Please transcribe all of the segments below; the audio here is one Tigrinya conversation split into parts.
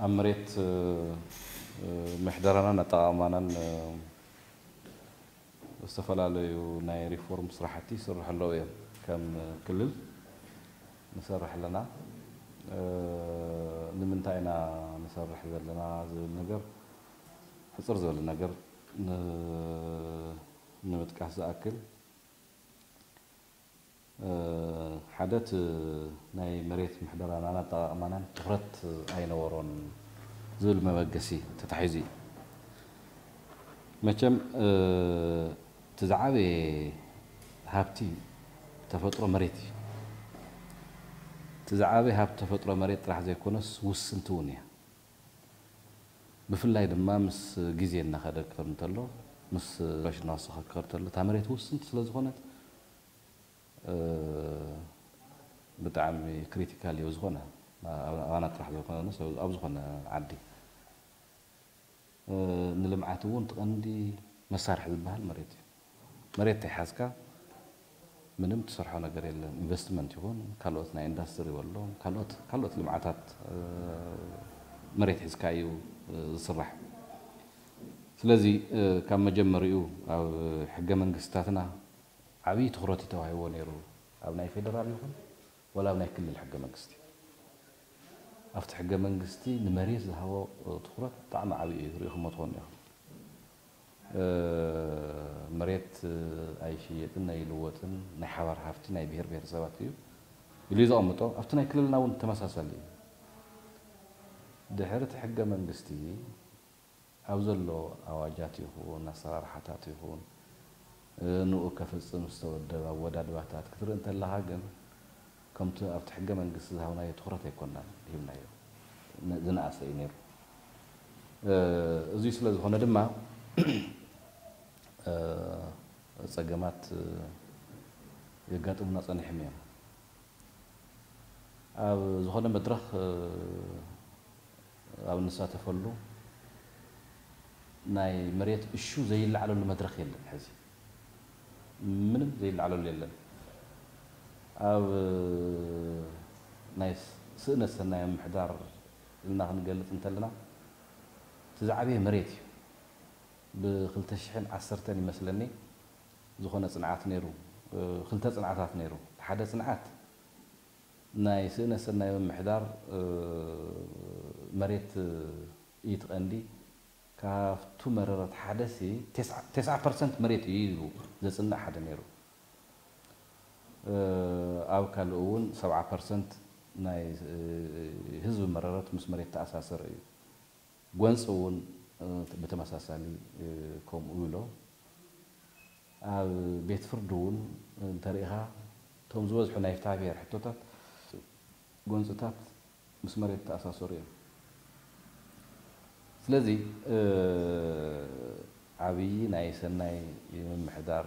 ኣብ መሬት ምሕደራናን ኣጠቓቕማናን ዝተፈላለዩ ናይ ሪፎርም ስራሕቲ ይስርሑ ኣለዉ እዮም። ከም ክልል ንሰርሕ ኣለና። ንምንታይ ኢና ንሰርሕ ዘለና ዝብል ነገር ሕፅር ዝበለ ነገር ንምጥቃስ ዝኣክል፣ ሓደ እቲ ናይ መሬት ምሕደራናን ኣጠቓቕማናን ትኹረት ኣይነበሮን ዝብል መበገሲ ተታሒዙ እዩ። መቸም እቲ ዝዓበየ ሃብቲ ተፈጥሮ መሬት እዩ። እቲ ዝዓበየ ሃብቲ ተፈጥሮ መሬት ጥራሕ ዘይኮነስ ውስንቲ እውን እያ። ብፍላይ ድማ ምስ ግዜ እናኸደ ክኸድ እንተሎ፣ ምስ ፋሽን እናወሰኸ ክኸድ እንተሎ፣ እታ መሬት ውስንቲ ስለ ዝኾነት ብጣዕሚ ክሪቲካል እዩ። ዝኾነ ኣባና ጥራሕ ዘይኮነስ ኣብ ዝኾነ ዓዲ ንልምዓት እውን ትቐንዲ መሳርሒ ዝበሃል መሬት እዩ። መሬት ተይሓዝካ ምንም ትሰርሖ ነገር የለን። ኢንቨስትመንት ይኹን ካልኦት ናይ ኢንዳስትሪ በሎ ካልኦት ካልኦት ልምዓታት መሬት ሒዝካ እዩ ዝስራሕ። ስለዚ ካብ መጀመሪኡ ኣብ ሕገ መንግስታትና ዓብዪ ትኹረት እዩ ተዋሂቦ ነይሩ። ኣብ ናይ ፌደራል ይኹን ወላ ኣብ ናይ ክልል ሕገ መንግስቲ ኣብቲ ሕገ መንግስቲ ንመሬት ዝሃቦ ትኹረት ብጣዕሚ ዓብዪ እዩ። ርኢኹሞ ትኾኑ ኢኹም። መሬት ኣይሽየጥን ኣይልወጥን ናይ ሓባር ሃፍቲ ናይ ብሄር ብሄረሰባት እዩ ኢሉ እዩ ዘቐምጦ። ኣብቲ ናይ ክልልና እውን ተመሳሳሊ እዩ። ድሕሪ እቲ ሕገ መንግስቲ ኣብ ዘሎ ኣዋጃት ይኹን ኣሰራርሓታት ይኹን ንኡ ከፍፅም ዝተወደበ ኣወዳድባታት ክትርኢ እንተለኻ ግን ከምቲ ኣብቲ ሕገ መንግስቲ ዝሃብናዮ ትኹረት ኣይኮናን ሂብናዮ። ዝነኣሰ እዩ ነይሩ። እዚ ስለ ዝኾነ ድማ ፀገማት የጋጥሙና ፀኒሖም እዮም። ኣብ ዝኾነ መድረኽ ኣብ እንሳተፈሉ ናይ መሬት እሹ ዘይለዓለሉ መድረኽ የለን። ሕዚ ምንም ዘይለዓለሉ የለን። ኣብ ናይ ስእነት ሰናይ ምምሕዳር ኢልና ክንገልፅ እንተለና እቲ ዝዓበየ መሬት እዩ። ብ ክልተ ሽሕን ዓሰርተን ይመስለኒ ዝኾነ ፅንዓት ነይሩ። ክልተ ፅንዓታት ነይሩ። ሓደ ፅንዓት ናይ ስእነት ሰናይ ምምሕዳር መሬት እዩ እቲ ቀንዲ። ካብቱ መረረት ሓደ ሲ ተስዓ ፐርሰንት መሬት እዩ ኢሉ ዘፅንዕ ሓደ ነይሩ። ኣብ ካልእ እውን ሰብዓ ፐርሰንት ናይ ህዝቢ መረረት ምስ መሬት ተኣሳሰረ እዩ። ጎንፂ እውን ብተመሳሳሊ ከምኡ ኢሎ ኣብ ቤት ፍርዲ እውን እንተሪኢኻ እቶም ዝበዝሑ ናይ ፍትሐ ብሔር ሕቶታት ጎንፅታት ምስ መሬት ተኣሳሰሩ እዮም። ስለዚ ዓብዪ ናይ ሰናይ ምምሕዳር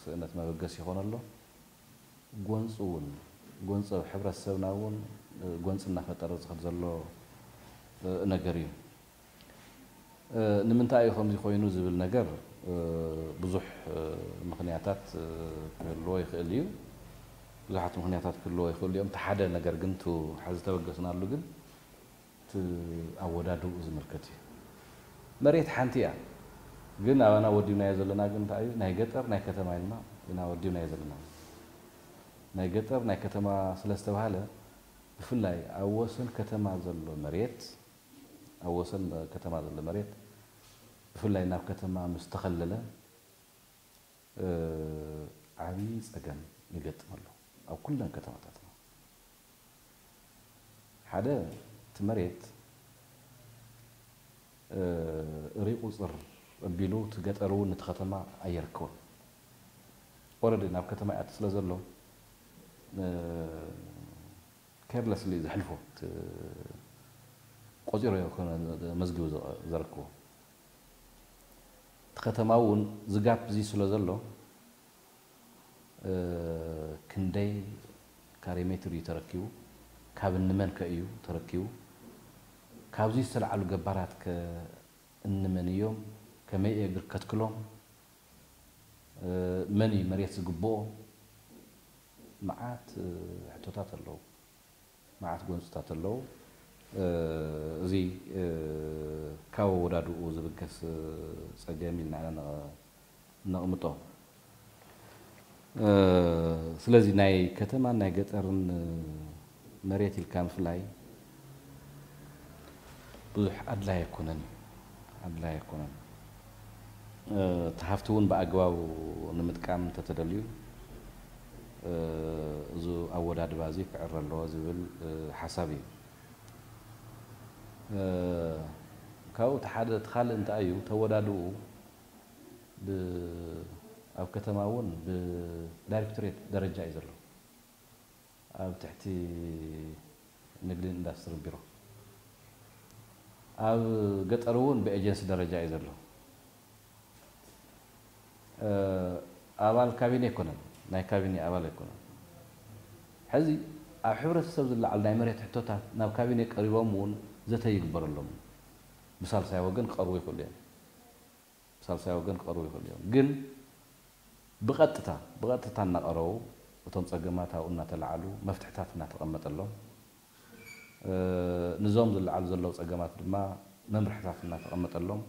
ስእነት መበገሲ ይኾን ኣሎ። ጎንፂ እውን ጎንፂ ኣብ ሕብረተሰብና እውን ጎንፂ እናፈጠረ ዝኸድ ዘሎ ነገር እዩ። ንምንታይ እዩ ከምዚ ኮይኑ ዝብል ነገር ብዙሕ ምኽንያታት ክህልዎ ይኽእል እዩ። ብዙሓት ምኽንያታት ክህልዎ ይኽእሉ እዮም። እቲ ሓደ ነገር ግን እቲ ሕዚ ተበገስናሉ ግን እቲ ኣወዳድብኡ ዝምልከት እዩ። መሬት ሓንቲ እያ፣ ግን ኣባና ወዲብናዮ ዘለና ግን እንታይ እዩ? ናይ ገጠር ናይ ከተማ ኢልና ኢና ወዲብናዮ ዘለና። ናይ ገጠር ናይ ከተማ ስለ ዝተባህለ ብፍላይ ኣብ ወሰን ከተማ ዘሎ መሬት ኣብ ወሰን ከተማ ዘሎ መሬት ብፍላይ ናብ ከተማ ምስ ተኸለለ ዓብዪ ፀገም ይገጥም ኣሎ ኣብ ኩለን ከተማታትና። ሓደ እቲ መሬት ርኢቑፅር ኣቢሉ እቲ ገጠር እውን ነቲ ከተማ ኣየርክቦን። ኦረዲ ናብ ከተማ ይኣቱ ስለ ዘሎ ኬርለስሊ ዘሕልፎ ቆፂሮ መዝግቡ ዘረክቦ እቲ ከተማ እውን ዝጋፕ እዚ ስለ ዘሎ ክንደይ ካሬ ሜትር እዩ ተረኪቡ? ካብ እንመን ከ እዩ ተረኪቡ? ካብዚ ዝተለዓሉ ገባራት ከ እንመን እዮም? ከመይ እየ ግር ከትክሎም? መን እዩ መሬት ዝግብኦ? መዓት ሕቶታት ኣለዉ። መዓት ጎንፅታት ኣለዉ። እዚ ካብ ኣወዳድኡ ዝብገስ ጸገም ኢልና ኢና ነቕምጦ። ስለዚ ናይ ከተማን ናይ ገጠርን መሬት ኢልካ ምፍላይ ብዙሕ ኣድላይ ኣይኮነን፣ ኣድላይ ኣይኮነን። እቲ ሃፍቲ እውን ብኣግባቡ ንምጥቃም እንተተደልዩ፣ እዚ ኣወዳድባ እዚ ክዕረ ኣለዎ ዝብል ሓሳብ እዩ። ካብኡ እቲ ሓደ እቲ ካልእ እንታይ እዩ፣ ተወዳድኡ ብ-፣ ኣብ ከተማ እውን ብዳይሬክቶሬት ደረጃ እዩ ዘሎ። ኣብ ትሕቲ ንግድን ኢንዳስትርን ቢሮ። ኣብ ገጠር እውን ብኤጀንሲ ደረጃ እዩ ዘሎ። ኣባል ካቢኔ ኣይኮነን፣ ናይ ካቢኔ ኣባል ኣይኮነን። ሕዚ ኣብ ሕብረተሰብ ዝለዓል ናይ መሬት ሕቶታት ናብ ካቢኔ ቀሪቦም እውን ዘተ ይግበረሎም። ብሳልሳይ ወገን ክቐርቡ ይኽእሉ እዮም። ብሳልሳይ ወገን ክቐርቡ ይኽእሉ እዮም። ግን ብቐጥታ፣ ብቐጥታ እናቐረቡ እቶም ጸገማት ኣብኡ እናተለዓሉ መፍትሕታት እናተቐመጠሎም፣ ንዞም ዝለዓሉ ዘለዉ ጸገማት ድማ መምርሕታት እናተቐመጠሎም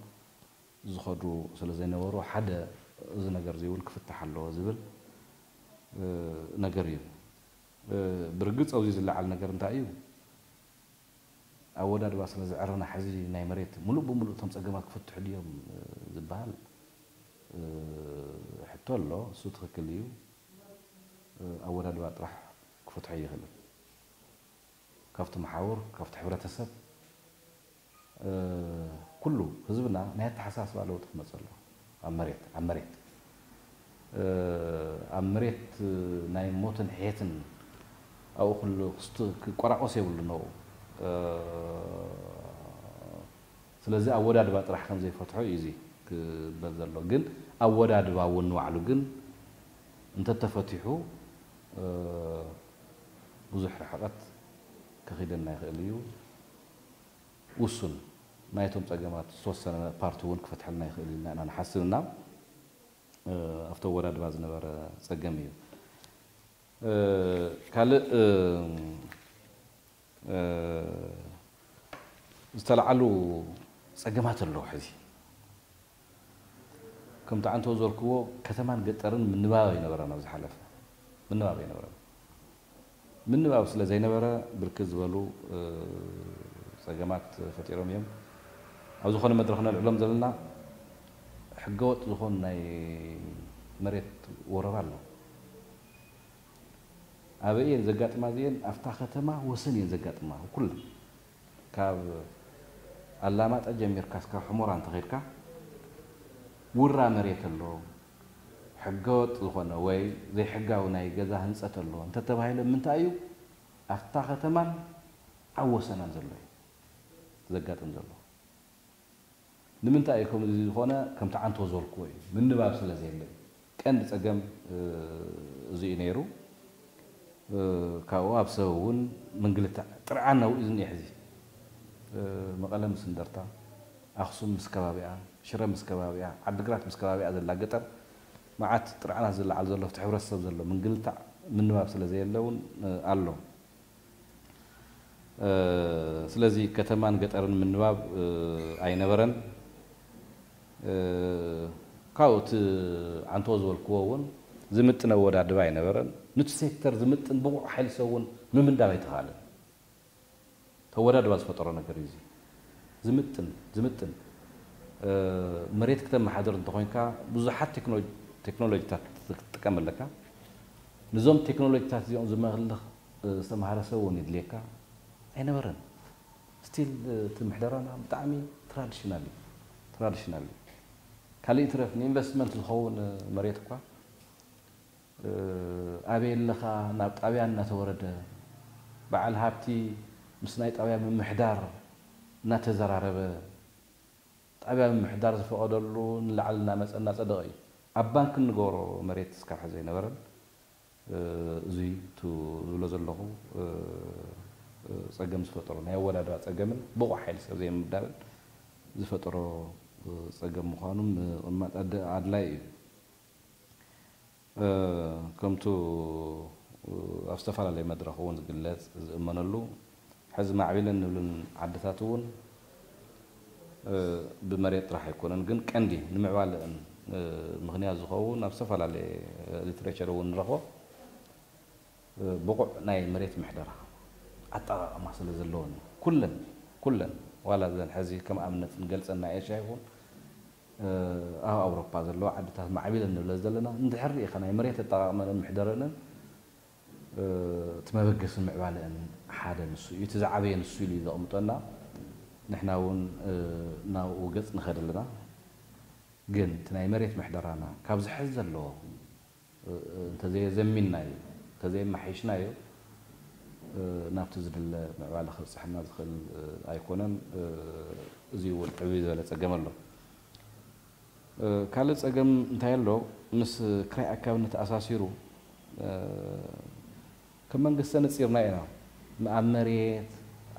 ዝኸዱ ስለ ዘይነበሩ፣ ሓደ እዚ ነገር እዚ እውን ክፍታሕ ኣለዎ ዝብል ነገር እዩ። ብርግጽ ኣብዚ ዝለዓል ነገር እንታይ እዩ? ኣወዳድባ ስለ ዝዕረና ሕዚ ናይ መሬት ሙሉእ ብሙሉእ እቶም ጸገማት ክፍትሑ ድዮም ዝበሃል ሕቶ ኣሎ። እሱ ትኽክል እዩ። ኣወዳድባ ጥራሕ ክፈትሖ ኣይኽእልን። ካብቲ መሓውር፣ ካብቲ ሕብረተሰብ፣ ኩሉ ህዝብና ናይ ኣተሓሳስባ ለውጢ ክመጽእ ኣለዎ። ኣብ መሬት፣ ኣብ መሬት፣ ኣብ መሬት ናይ ሞትን ሕየትን ኣብኡ ኩሉ ክስት-፣ ክቆራቆስ የብሉን ኣብኡ። ስለዚ ኣወዳድባ ጥራሕ ከም ዘይፈትሖ እዩ እዚ ክበል ዘሎ። ግን ኣወዳድባ እውን ንባዕሉ ግን እንተተፈቲሑ ብዙሕ ርሕቐት ከኺደና ይኽእል እዩ። ውሱን ናይቶም ጸገማት ዝተወሰነ ፓርቲ እውን ክፈትሐልና ይኽእል ኢልና ኢና ንሓስብ እና፣ ኣብቲ ኣወዳድባ ዝነበረ ጸገም እዩ። ካልእ ዝተለዓሉ ጸገማት ኣለዉ። ሕዚ ከምቲ ዓንቶ ዝበልክዎ ከተማን ገጠርን ምንባብ ኣይነበረን። ኣብ ዝሓለፈ ምንባብ ኣይነበረን። ምንባብ ስለ ዘይነበረ ብርክት ዝበሉ ጸገማት ፈጢሮም እዮም። ኣብ ዝኾነ መድረኽ ነልዕሎም ዘለና ሕገወጥ ዝኾን ናይ መሬት ወረራ ኣሎ። ኣበይ እየን ዘጋጥማ እዚኤን? ኣብታ ከተማ ወሰን እየን ዘጋጥማ። ኩለን ካብ ኣላማጣ ጀሚርካ እስካብ ሑመራ እንተኸድካ ውራ መሬት ኣሎ፣ ሕገወጥ ዝኾነ ወይ ዘይሕጋዊ ናይ ገዛ ህንፀት ኣሎ እንተተባሂለ ምንታይ እዩ ኣብታ ከተማን ኣብ ወሰናን ዘሎ እዩ ዘጋጥም ዘሎ። ንምንታይ እዩ ከምዚ ዝኾነ? ከምቲ ዓንቶ ዝበልክዎ እዩ፣ ምንባብ ስለ ዘየለ እዩ። ቀንዲ ጸገም እዚ እዩ ነይሩ። ካብኡ ኣብ ሰብ እውን ምንግልታዕ ጥርዓን ናብኡ እዩ ዝኒአ። ሕዚ መቐለ ምስ እንደርታ፣ ኣኽሱም ምስ ከባቢኣ፣ ሽረ ምስ ከባቢኣ፣ ዓድግራት ምስ ከባቢኣ ዘላ ገጠር መዓት ጥርዓናት ዝለዓል ዘሎ ኣብቲ ሕብረተሰብ ዘሎ ምንግልታዕ ምንባብ ስለ ዘየለ እውን ኣሎ። ስለዚ ከተማን ገጠርን ምንባብ ኣይነበረን። ካብኡ እቲ ዓንቶ ዝበልክዎ እውን ዝምጥን ኣወዳድባ ኣይነበረን። ንቲ ሴክተር ዝምጥን ብቑዕ ሓይሊ ሰብ እውን ምምዳብ ኣይተኻእለን። ተወዳድባ ዝፈጠሮ ነገር እዩ እዚ። ዝምጥን ዝምጥን መሬት ክተመሓድር እንተኾይንካ ብዙሓት ቴክኖሎጂታት ክትጥቀም ኣለካ። ንዞም ቴክኖሎጂታት እዚኦም ዝመልኽ ዝተምሃረ ሰብ እውን ይድልየካ ኣይነበረን። ስቲል እቲ ምሕደራና ብጣዕሚ ትራዲሽናል እዩ። ትራዲሽናል እዩ። ካልእ ይትረፍ ንኢንቨስትመንት ዝኸውን መሬት እኳ ኣበይ ኣለኻ ናብ ጣብያ እናተወረደ በዓል ሃብቲ ምስ ናይ ጣብያ ምምሕዳር እናተዘራረበ ጣብያ ምምሕዳር ዝፈቐደሉ ንላዕሊ እናመፀ እናፀደቐ እዩ። ኣብ ባንክ እንገብሮ መሬት እስካብ ሕዚ ኣይነበረን። እዙይ እቲ ዝብሎ ዘለኹ ጸገም ዝፈጠሮ ናይ ኣወዳድባ ጸገምን ብቑዕ ሓይሊ ሰብ ዘይምዳብን ዝፈጠሮ ጸገም ምዃኑ ምቕማጥ ኣድላይ እዩ። ከምቱ ኣብ ዝተፈላለየ መድረኽ እውን ዝግለጽ ዝእመነሉ ሕዚ ማዕቢለን ንብልን ዓድታት እውን ብመሬት ጥራሕ ኣይኮነን፣ ግን ቀንዲ ንምዕባለእን ምኽንያት ዝኸውን ኣብ ዝተፈላለየ ሊትሬቸር እውን ንረኽቦ ብቑዕ ናይ መሬት ምሕደራ ኣጠቓቕማ ስለ ዘለወን ኩለን ኩለን ዋላ ዘን ሕዚ ከም ኣብነት ንገልጸን ናይ ኤሽያ ይኹን ኣብ ኣውሮፓ ዘለዋ ዓድታት ማዕቢለን ንብለ ዘለና እንድሕር ርኢኻ ናይ መሬት ኣጠቓቕመንን ምሕደረንን እቲ መበገሲ ምዕባለአን ሓደ ንሱ እዩ፣ እቲ ዝዓበየ ንሱ ኢሉ እዩ ዘቕምጠና። ንሕና እውን ናብኡ ገጽ ንኸድ ኣለና። ግን እቲ ናይ መሬት ምሕደራና ካብዚ ሕዚ ዘለዎ እንተዘየዘሚንናዮ፣ እንተዘየማሒሽናዮ ናብቲ ዝድለ ምዕባለ ከብጽሐና ዝኽእል ኣይኮነን። እዚ እውን ዕብይ ዝበለ ጸገም ኣሎ። ካልእ ጸገም እንታይ ኣሎ? ምስ ክራይ ኣካብነት ተኣሳሲሩ ከም መንግስቲ ነጺርና ኢና። ኣብ መሬት፣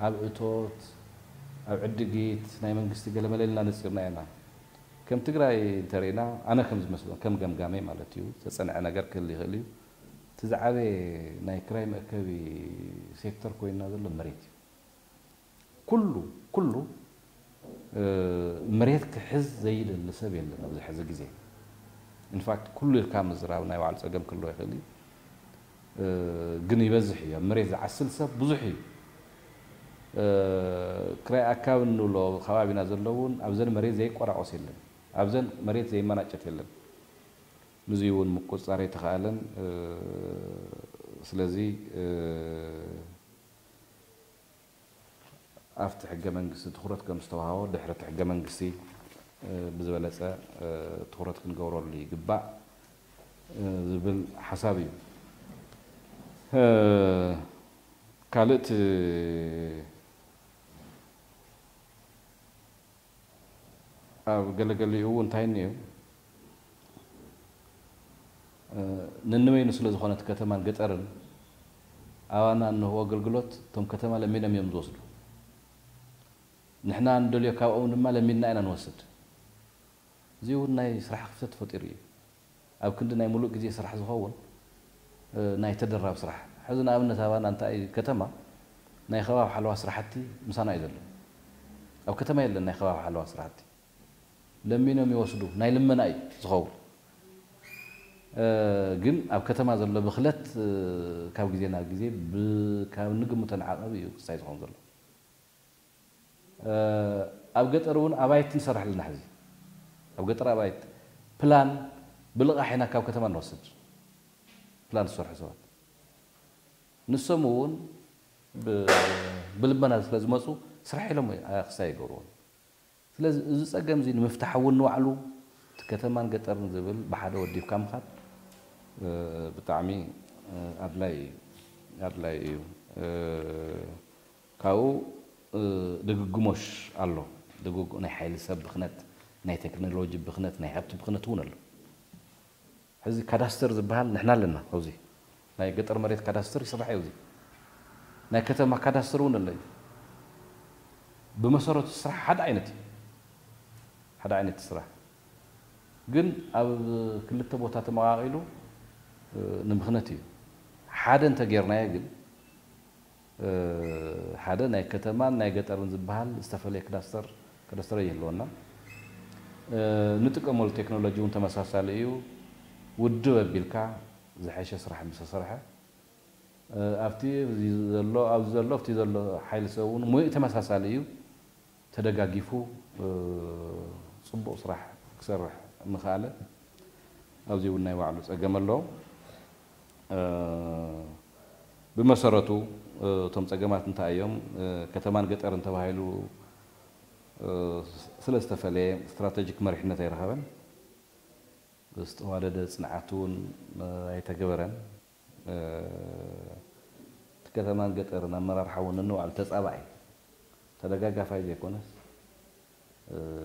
ኣብ እቶት፣ ኣብ ዕድጊት ናይ መንግስቲ ገለመለ ኢልና ነጺርና ኢና። ከም ትግራይ እንተሪእና ኣነ ከም ዝመስሎ ከም ገምጋመይ ማለት እዩ፣ ዝተጸንዐ ነገር ክህል ይኽእል እዩ። እቲ ዝዓበየ ናይ ክራይ መእከቢ ሴክተር ኮይንና ዘሎ መሬት እዩ። ኩሉ ኩሉ መሬት ክሕዝ ዘይደሊ ሰብ የለን ኣብዚ ሕዚ ግዜ። ኢንፋክት ኩሉ ኢልካ ምዝራብ ናይ ባዕሉ ጸገም ክህልዎ ይኽእል እዩ። ግን ይበዝሕ እዩ። ኣብ መሬት ዝዓስል ሰብ ብዙሕ እዩ። ክራይ ኣካብ እንብሎ ከባቢና ዘለውን ኣብዘን መሬት ዘይቆራቆስ የለን። ኣብዘን መሬት ዘይመናጨት የለን። ምስዚ እውን ምቁጽጻር ኣይተኻእለን። ስለዚ ኣብቲ ሕገ መንግስቲ ትኹረት ከም ዝተዋህቦ ድሕሪ እቲ ሕገ መንግስቲ ብዝበለፀ ትኹረት ክንገብረሉ ይግባእ ዝብል ሓሳብ እዩ። ካልእቲ ኣብ ገለገሊኡ እንታይ እኒኦ ነንበይኑ ስለ ዝኾነ እቲ ከተማን ገጠርን ኣባና እንህቦ ኣገልግሎት እቶም ከተማ ለሚኖም እዮም ዝወስዱ። ንሕና እንደልዮ ካብኦም ድማ ለሚንና ኢና ንወስድ። እዚ እውን ናይ ስራሕ ክፍተት ፈጢሩ እዩ። ኣብ ክንዲ ናይ ሙሉእ ግዜ ስራሕ ዝኸውን ናይ ተደራብ ስራሕ። ሕዚ ንኣብነት ኣባና እንታይ ከተማ ናይ ከባቢ ሓለዋ ስራሕቲ ምሳና እዩ ዘሎ። ኣብ ከተማ የለን ናይ ከባቢ ሓለዋ ስራሕቲ። ለሚኖም ይወስዱ፣ ናይ ልመና እዩ ዝኸውን። ግን ኣብ ከተማ ዘሎ ብኽለት ካብ ግዜ ናብ ግዜ ካብ ንግምቶ ንዓቐብ እዩ ክሳይ ዝኸውን ዘሎ። ኣብ ገጠር እውን ኣባይቲ ንሰርሕ ኣለና። ሕዚ ኣብ ገጠር ኣባይቲ ፕላን ብልቓሕ ኢና ካብ ከተማ ንወስድ። ፕላን ዝሰርሑ ሰባት ንሶም እውን ብልመና ስለ ዝመፁ ስራሕ ኢሎም ክሳይ ይገብርዎም። ስለዚ እዚ ጸገም እዚ ንምፍታሕ እውን ንባዕሉ እቲ ከተማን ገጠርን ዝብል ብሓደ ወዲብካ ምኻድ ብጣዕሚ ኣድላይ ኣድላይ እዩ። ካብኡ ድግግሞሽ ኣሎ። ድግግ ናይ ሓይሊ ሰብ ብኽነት፣ ናይ ቴክኖሎጂ ብኽነት፣ ናይ ሃብቲ ብኽነት እውን ኣሎ። ሕዚ ካዳስተር ዝበሃል ንሕና ኣለና። ኣብዚ ናይ ገጠር መሬት ካዳስተር ይስራሕ እዩ። እዚ ናይ ከተማ ካዳስተር እውን ኣሎ እዩ። ብመሰረቱ ስራሕ ሓደ ዓይነት እዩ። ሓደ ዓይነት ስራሕ ግን ኣብ ክልተ ቦታ ተመቓቒሉ ንምኽነት እዩ። ሓደ እንተጌርናዮ ግን ሓደ ናይ ከተማን ናይ ገጠርን ዝበሃል ዝተፈለየ ክዳስተር ክዳስተር ይህልወና። ንጥቀመሉ ቴክኖሎጂ እውን ተመሳሳሊ እዩ። ውድብ ኣቢልካ ዝሐሸ ስራሕ ምስ ተሰርሐ ኣብቲ ዘሎ ኣብዚ ዘሎ ኣብቲ ዘሎ ሓይሊ ሰብ እውን ሙሉእ ተመሳሳሊ እዩ። ተደጋጊፉ ጽቡቕ ስራሕ ክሰርሕ ምኽኣለ ኣብዚ እውን ናይ ባዕሉ ጸገም ኣሎ። ብመሰረቱ እቶም ጸገማት እንታይ እዮም? ከተማን ገጠርን ተባሂሉ ስለ ዝተፈለየ ስትራተጂክ መሪሕነት ኣይረኸበን። ዝተዋደደ ጽንዓት እውን ኣይተገበረን። እቲ ከተማን ገጠርን ኣመራርሓ እውን ነንባዕሉ ተጻባኢ ተደጋጋፋይ ዘይኮነስ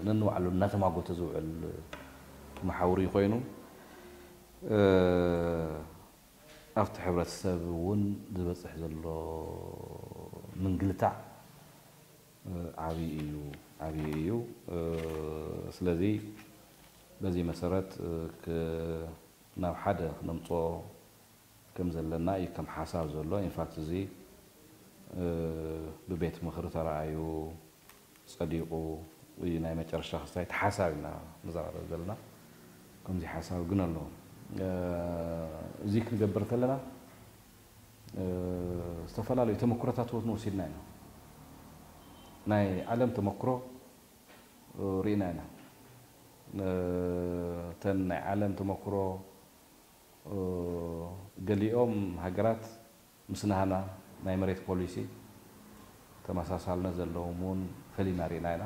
ነንባዕሉ እናተማጎተ ዝውዕል መሓውር እዩ ኮይኑ ኣብቲ ሕብረተሰብ እውን ዝበፅሕ ዘሎ ምንግልታዕ ዓብዪ እዩ ዓብዪ እዩ። ስለዚ በዚ መሰረት ናብ ሓደ ክነምፅኦ ከም ዘለና እዩ ከም ሓሳብ ዘሎ። ኢንፋክት እዚ ብቤት ምኽሪ ተረኣዩ ጸዲቑ እዩ ናይ መጨረሻ ክስታይ እቲ ሓሳብ ኢና ንዘራረብ ዘለና። ከምዚ ሓሳብ ግን ኣሎ። እዚ ክንገብር ከለና ዝተፈላለዩ ተመክሮታት እውን ወሲድና ኢና። ናይ ዓለም ተመክሮ ርኢና ኢና። እተን ናይ ዓለም ተመክሮ ገሊኦም ሃገራት ምስ ናህና ናይ መሬት ፖሊሲ ተመሳሳልነት ዘለዎም እውን ፈሊና ርኢና ኢና።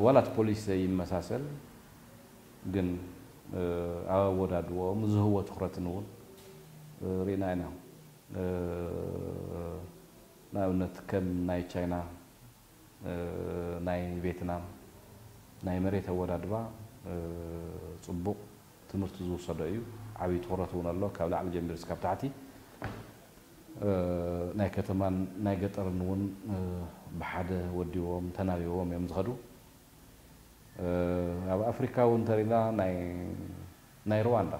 ዋላ እቲ ፖሊሲ ዘይመሳሰል ግን ኣብ ኣወዳድቦኦም ዝህቦ ትኹረትን እውን ርኢና ኢና። ንኣብነት ከም ናይ ቻይና፣ ናይ ቬትናም ናይ መሬት ኣወዳድባ ጽቡቕ ትምህርቲ ዝውሰዶ እዩ። ዓብዪ ትኹረት እውን ኣሎ፣ ካብ ላዕሊ ጀሚሩ እስካብ ታሕቲ። ናይ ከተማን ናይ ገጠርን እውን ብሓደ ወዲዎም ተናቢቦም እዮም ዝኸዱ። ኣብ ኣፍሪካ እውን እንተሪና ናይ ሩዋንዳ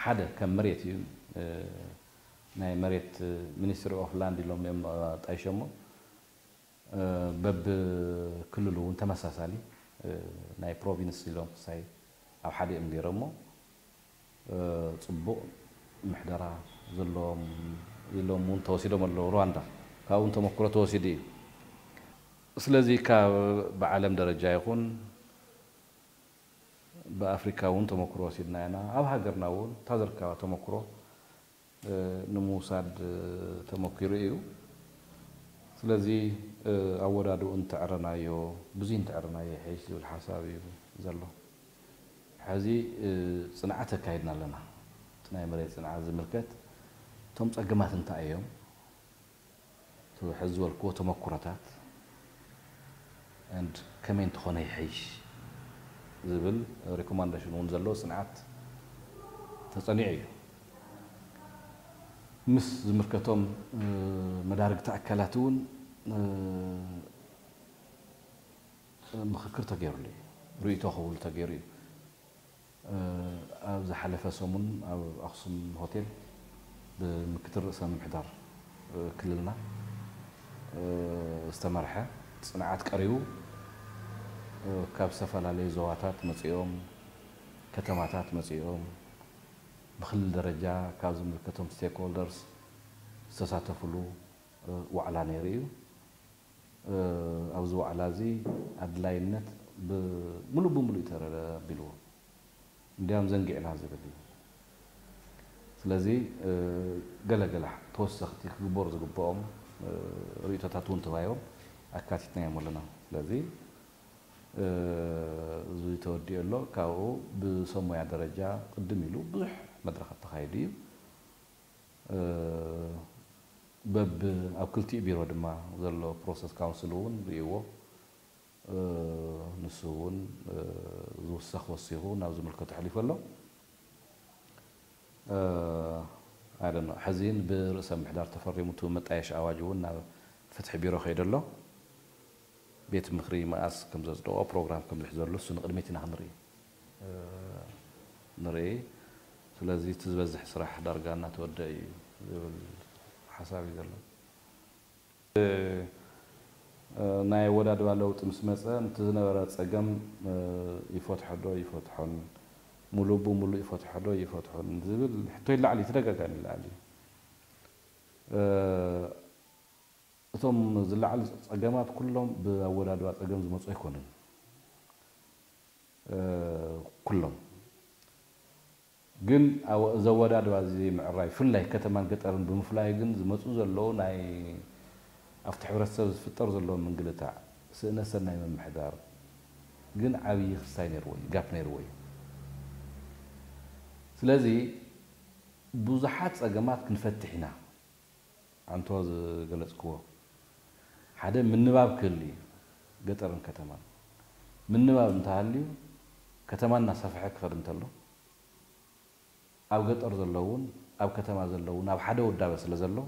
ሓደ ከም መሬት እዩ። ናይ መሬት ሚኒስትሪ ኦፍ ላንድ ኢሎም እዮም ጣይሸሞ። በብክልሉ እውን ተመሳሳሊ ናይ ፕሮቪንስ ኢሎም ክሳይ ኣብ ሓደ እዮም ገይሮሞ። ጽቡቕ ምሕደራ ዘለዎም ኢሎም እውን ተወሲዶም ኣለዉ። ሩዋንዳ ካብኡ እውን ተመክሮ ተወሲዱ እዩ። ስለዚ ካብ ብዓለም ደረጃ ይኹን ብኣፍሪካ እውን ተመክሮ ወሲድና ኢና። ኣብ ሃገርና እውን እታ ዝርከባ ተመክሮ ንምውሳድ ተመኪሩ እዩ። ስለዚ ኣወዳድኡ እንተዕረናዮ ብዙ እንተዕረናዮ ይሕሽ ዝብል ሓሳብ እዩ ዘሎ። ሕዚ ጽንዓት ኣካይድና ኣለና። እቲ ናይ መሬት ጽንዓት ዝምልከት እቶም ጸገማት እንታይ እዮም? ሕዚ ዝበልክዎ ተመኩሮታት and ከመይ እንተኾነ ይሐይሽ ዝብል ሪኮማንዴሽን እውን ዘለዎ ጽንዓት ተጸኒዑ እዩ። ምስ ዝምልከቶም መዳርግቲ ኣካላት እውን ምኽክር ተገይሩሉ እዩ። ርእይቶ ክህብሉ ተገይሩ እዩ። ኣብ ዝሓለፈ ሰሙን ኣብ ኣክሱም ሆቴል ብምክትል ርእሰ ምምሕዳር ክልልና ዝተመርሐ ጽንዓት ቀሪቡ፣ ካብ ዝተፈላለዩ ዞባታት መጺኦም፣ ከተማታት መጺኦም፣ ብክልል ደረጃ ካብ ዝምልከቶም ስቴክሆልደርስ ዝተሳተፍሉ ዋዕላ ነይሩ እዩ። ኣብዚ ዋዕላ እዚ ኣድላይነት ብምሉእ ብምሉእ እዩ ተረቢልዎ። እንዲያም ዘንጊዕና ዝብል እዩ። ስለዚ ገለገለ ተወሰኽቲ ክግበሩ ዝግብኦም ርእይቶታት እውን ተባሂቦም ኣካቲትናዮም ኣለና። ስለዚ እዚ ተወዲኡ ኣሎ። ካብኡ ብሰሙያ ደረጃ ቅድም ኢሉ ብዙሕ መድረኻት ተኻይዱ እዩ። በብ ኣብ ክልቲኡ ቢሮ ድማ ዘሎ ፕሮሰስ ካውንስል እውን ርእይዎ። ንሱ እውን ዝውሰኽ ወሲኹ ናብ ዝምልከቶ ኣሕሊፉ ኣሎ። ኣይደኖ ሕዚን ብርእሰ ምሕዳር ተፈሪሙ እቲ መጣየሽ ኣዋጅ እውን ናብ ፍትሒ ቢሮ ከይዱ ኣሎ። ቤት ምኽሪ መኣስ ከም ዘጽደቆ ፕሮግራም ከም ዝሕዘሉ እሱ ንቕድሚት ኢና ክንርኢ ንርኢ። ስለዚ እቲ ዝበዝሕ ስራሕ ዳርጋ እናተወደአ እዩ ዝብል ሓሳብ እዩ ዘሎ። ናይ ኣወዳድባ ለውጢ ምስ መፀ እቲ ዝነበረ ፀገም ይፈትሖ ዶ ይፈትሖን፣ ሙሉእ ብሙሉእ ይፈትሖ ዶ ይፈትሖን ዝብል ሕቶ ይለዓል እዩ፣ ተደጋጋሚ ይለዓል እዩ። እቶም ዝለዓሉ ፀገማት ኩሎም ብኣወዳድባ ፀገም ዝመፁ ኣይኮኑን። ኩሎም ግን ዘወዳድባ እዚ ምዕራይ ብፍላይ ከተማን ገጠርን ብምፍላይ ግን ዝመፁ ዘለዉ ናይ ኣብቲ ሕብረተሰብ ዝፍጠር ዘሎ ምንግልታዕ፣ ስእነት ሰናይ ምምሕዳር ግን ዓብዪ ክስታይ ነይርዎ እዩ፣ ጋፕ ነይርዎ እዩ። ስለዚ ብዙሓት ፀገማት ክንፈትሕ ኢና። ኣንቶ ዝገለጽክዎ ሓደ ምንባብ ክህሉ እዩ። ገጠርን ከተማን ምንባብ እንተሃልዩ ከተማ እናሰፍሐ ክኸድ እንተሎ ኣብ ገጠር ዘለውን ኣብ ከተማ ዘለውን ኣብ ሓደ ውዳበ ስለ ዘሎ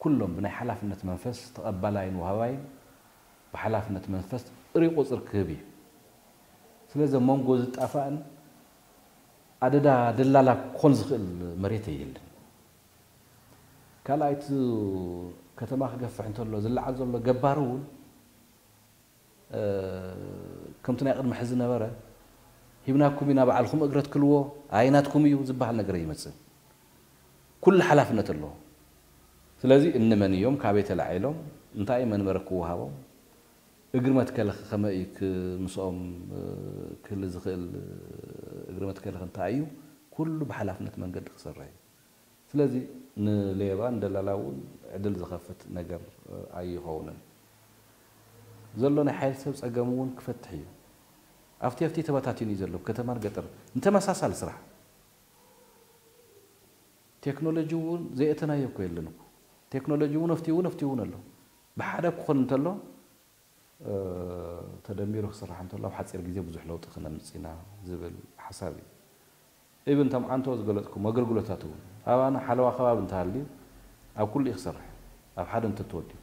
ኩሎም ብናይ ሓላፍነት መንፈስ ተቐባላይን ወሃባይን ብሓላፍነት መንፈስ ጥሪ ቁፅር ክህብ እዩ። ስለዚ ኣብ መንጎ ዝጣፋእን ኣደዳ ደላላ ክኾን ዝኽእል መሬት የለን። ካልኣይ እቲ ከተማ ክገፍሕ እንተሎ ዝለዓል ዘሎ ገባር እውን ከምቲ ናይ ቅድሚ ሕዚ ነበረ ሂብናኩም ኢና በዓልኩም እግረ ትክልዎ ኣይናትኩም እዩ ዝበሃል ነገር ይመፅእ። ኩሉ ሓላፍነት ኣለዎ። ስለዚ እንመን እዮም፣ ካበይ ተላዒሎም፣ እንታይ እዩ መንበሪ ክወሃቦም፣ እግሪ መትከሊ ከመይ እዩ ምስኦም ክህሊ ዝኽእል፣ እግሪ መትከሊ እንታይ እዩ፣ ኩሉ ብሓላፍነት መንገዲ ክሰርሕ እዩ። ስለዚ ንሌባ ንደላላ እውን ዕድል ዝኸፍት ነገር ኣይኸውንን። ዘሎ ናይ ሓይል ሰብ ፀገም እውን ክፈትሕ እዩ። ኣብቲ ኣብቲ ተበታቲኑ እዩ ዘሎ፣ ከተማን ገጠር ንተመሳሳሊ ስራሕ። ቴክኖሎጂ እውን ዘየእተናዮ እኮ የለን እኮ። ቴክኖሎጂ እውን ኣብቲ እውን ኣብቲ እውን ኣሎ። ብሓደ ክኾን እንተሎ ተደሚሩ ክስራሕ እንተሎ ኣብ ሓፂር ግዜ ብዙሕ ለውጢ ክነምፅእ ኢና ዝብል ሓሳብ እዩ። ኢብን እቶም ዓንቶ ዝገለፅኩም ኣገልግሎታት እውን ኣባና ሓለዋ ከባቢ እንተሃልዩ ኣብ ኩሉ እዩ ክሰርሕ። ኣብ ሓደ እንተተወዲቡ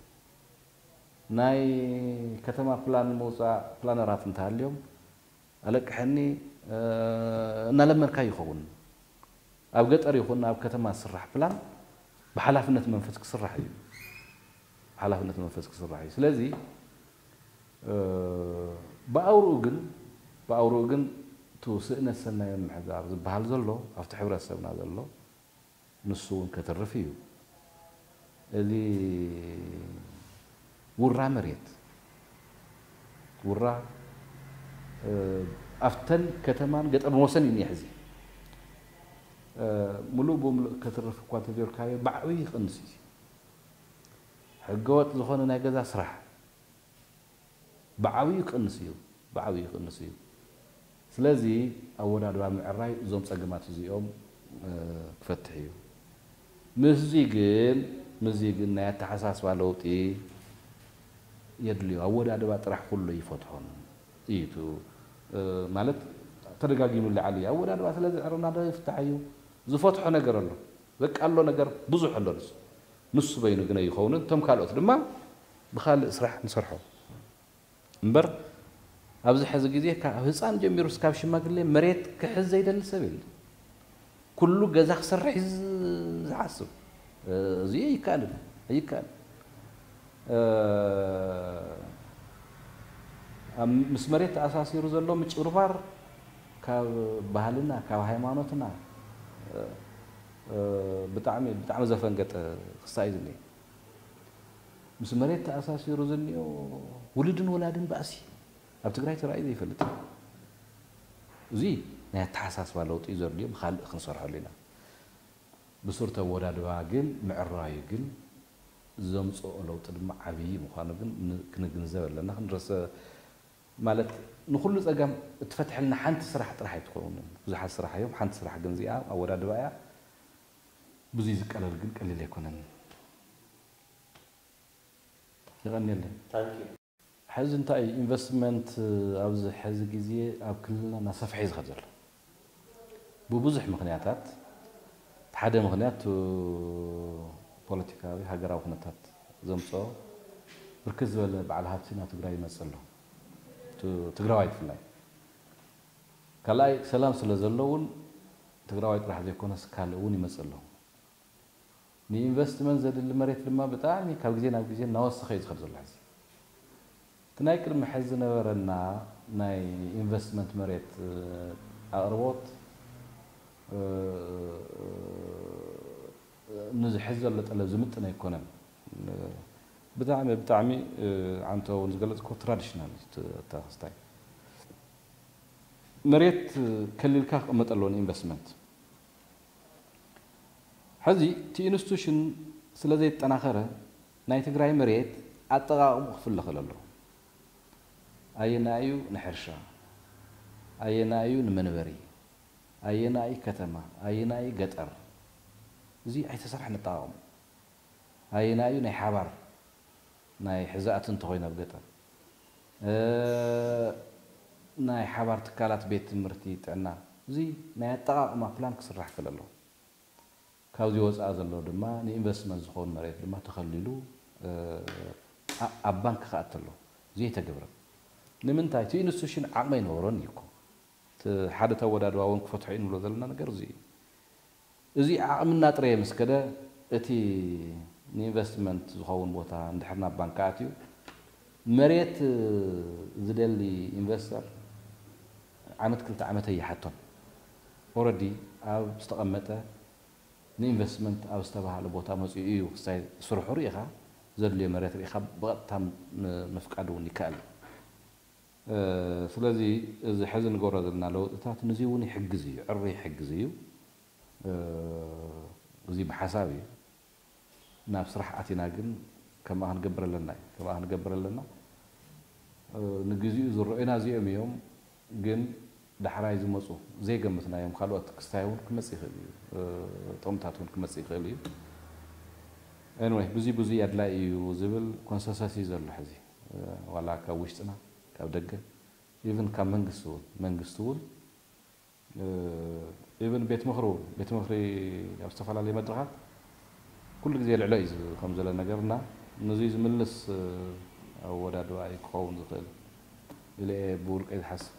ናይ ከተማ ፕላን ምውፃእ ፕላነራት እንተሃልዮም ኣለቅሐኒ እናለመንካ ይኸውን። ኣብ ገጠር ይኹን ኣብ ከተማ ዝስራሕ ፕላን ብሓላፍነት መንፈስ ክስራሕ እዩ። ሓላፍነት መንፈስ ክስራሕ እዩ። ስለዚ ብኣውርኡ ግን ብኣውርኡ ግን እቲ ስእነት ሰናይ ምምሕዳር ዝበሃል ዘሎ ኣብቲ ሕብረተሰብና ዘሎ ንሱ እውን ከትርፍ እዩ። እዚ ውራ መሬት ውራ ኣብተን ከተማን ገጠር መወሰን እዩ ሕዚ ሙሉእ ብምሉእ ከትርፍ እኳ እንተዘይርካዮ ብዓብዩ ይቕንስ እዩ። ሕገወጥ ዝኾነ ናይ ገዛ ስራሕ ብዓብዩ ይቕንስ እዩ። ብዓብዩ ይቕንስ እዩ። ስለዚ ኣወዳድባ ምዕራይ እዞም ፀገማት እዚኦም ክፈትሕ እዩ። ምስዚ ግን ምስዚ ግን ናይ ኣተሓሳስባ ለውጢ የድልዮ። ኣወዳድባ ጥራሕ ኩሉ ይፈትሖን እዩ። ማለት ተደጋጊሙ ላዓሊ ኣወዳድባ ስለ ዝዕርና ዶ ይፍታሕ እዩ? ዝፈትሖ ነገር ኣሎ። በቃ ኣሎ ነገር ብዙሕ ኣሎ። ንሱ ንሱ በይኑ ግን ኣይኸውንን። እቶም ካልኦት ድማ ብኻልእ ስራሕ ንሰርሖ። እምበር ኣብዚ ሕዚ ግዜ ካብ ህፃን ጀሚሩ እስካብ ሽማግሌ መሬት ክሕዝ ዘይደሊ ሰብ የለ። ኩሉ ገዛ ክሰርሕ እዩ ዝሓስብ። እዚ ይከኣልን ኣይከኣልን። ኣብ ምስ መሬት ተኣሳሲሩ ዘሎ ምጭብርባር ካብ ባህልና ካብ ሃይማኖትና ብጣዕሚ ብጣዕሚ ዘፈንገጠ ክስታይ እዩ ዝኒአ። ምስ መሬት ተኣሳሲሩ ዝኒኦ ውሉድን ወላድን ባእሲ ኣብ ትግራይ ተራእዩ ዘይፈልጥ። እዚ ናይ ኣተሓሳስባ ለውጢ እዩ ዘድልዮ። ብካልእ ክንሰርሐሉ ኢና። ብሱር ተወዳድባ ግን ምዕራዩ ግን ዘምፅኦ ለውጢ ድማ ዓብዪ ምዃኑ ግን ክንግንዘብ ኣለና። ክንረሰ ማለት ንኩሉ ፀገም እትፈትሐልና ሓንቲ ስራሕ ጥራሕ ኣይትኸውን። ብዙሓት ስራሕ እዮም። ሓንቲ ስራሕ ግን እዚኣ ኣወዳድባ እያ። ብዙይ ዝቀለል ግን ቀሊል ኣይኮነን። ይቐንየለይ። ሕዚ እንታይ ኢንቨስትመንት ኣብዚ ሕዚ ግዜ ኣብ ክልልና እናሰፍሐ እዩ ዝኸድ ዘሎ ብብዙሕ ምክንያታት። ሓደ ምክንያት ፖለቲካዊ ሃገራዊ ኩነታት ዘምፅኦ ብርክት ዝበለ በዓል ሃብቲ ናብ ትግራይ ይመፅእ ኣሎ። ትግራዋይ ብፍላይ ካልኣይ ሰላም ስለ ዘሎ እውን ትግራዋይ ጥራሕ ዘይኮነስ ካልእ እውን ይመፅእ ኣሎ። ንኢንቨስትመንት ዘድሊ መሬት ድማ ብጣዕሚ ካብ ግዜ ናብ ግዜ እናወሰኸ እዩ ዝኸድ ዘሎ። ሕዚ እቲ ናይ ቅድሚ ሕዚ ዝነበረና ናይ ኢንቨስትመንት መሬት ኣቕርቦት ንዚ ሕዚ ዘሎ ጠለብ ዝምጥን ኣይኮነን። ብጣዕሚ ብጣዕሚ ዓንቶ እውን ዝገለፅኮ ትራዲሽናል ተክስታይ መሬት ከሊልካ ክቕመጥ ኣለዎ ንኢንቨስትመንት። ሕዚ እቲ ኢንስቲቱሽን ስለ ዘይጠናኸረ ናይ ትግራይ መሬት ኣጠቓቕሙ ክፍለኸል ኣለዎ። ኣየናይ እዩ ንሕርሻ፣ ኣየናይ እዩ ንመንበሪ፣ ኣየናይ ከተማ፣ ኣየናይ ገጠር፣ እዚ ኣይተሰርሐን ኣጠቓቕሙ። ኣየናይ እዩ ናይ ሓባር ናይ ሕዛእቲ እንተኾይኑ ኣብ ገጠር ናይ ሓባር ትካላት ቤት ትምህርቲ ጥዕና እዚ ናይ ኣጠቓቕማ ፕላን ክስራሕ ክእል ኣለዎ። ካብዚ ወፃኢ ዘሎ ድማ ንኢንቨስትመንት ዝኸውን መሬት ድማ ተኸሊሉ ኣብ ባንክ ክኣተሎ ዘይተገብረ ንምንታይ እቲ ኢንስቲቱሽን ዓቕሚ ኣይነበሮን እዩ እኮ። ሓደ ተወዳድባ እውን ክፈትሖ እዩ ንብሎ ዘለና ነገር እዚ እዩ። እዚ ዓቕምና ጥረየ ምስ ከደ እቲ ንኢንቨስትመንት ዝኸውን ቦታ እንድሕር ናብ ባንክ ኣትዩ መሬት ዝደሊ ኢንቨስተር ዓመት ክልተ ዓመት ኣይሓቶን። ኦረዲ ኣብ ዝተቐመጠ ንኢንቨስትመንት ኣብ ዝተባሃለ ቦታ መፂኡ እዩ ክሳይ ስርሑ ርኢኻ ዘድልዮ መሬት ርኢኻ ብቐጥታ ምፍቃድ እውን ይከኣል እዩ። ስለዚ እዚ ሕዚ ንገብሮ ዘለና ለውጥታት ንዚ እውን ይሕግዝ እዩ፣ ዕሪ ይሕግዝ እዩ። እዚ ብሓሳብ እዩ። ናብ ስራሕ ኣቲና ግን ከምኣ ክንገብር ኣለና እዩ። ከምኣ ክንገብር ኣለና። ንግዚኡ ዝረኡና እዚኦም እዮም፣ ግን ዳሕራይ ዝመፁ ዘይገምትናዮም ካልኦት ክስታይ እውን ክመፅእ ይኽእል እዩ። ጥቕምታት እውን ክመፅእ ይኽእል እዩ። Anyway፣ ብዙ ብዙ ኣድላይ እዩ ዝብል ኮንሰንሰስ እዩ ዘሎ ሕዚ። ዋላ ካብ ውሽጥና ካብ ደገ ኢቭን ካብ መንግስቲ እውን መንግስቲ እውን ኢቭን ቤት ምኽሪ እውን ቤት ምኽሪ ኣብ ዝተፈላለዩ መድረኻት ኩሉ ግዜ ልዕሎ እዩ ከም ዘሎ ነገር እና ነዚ ዝምልስ ኣወዳድባ እዩ ክኸውን ዝኽእል ኢለ እየ ብውልቀይ ዝሓስብ።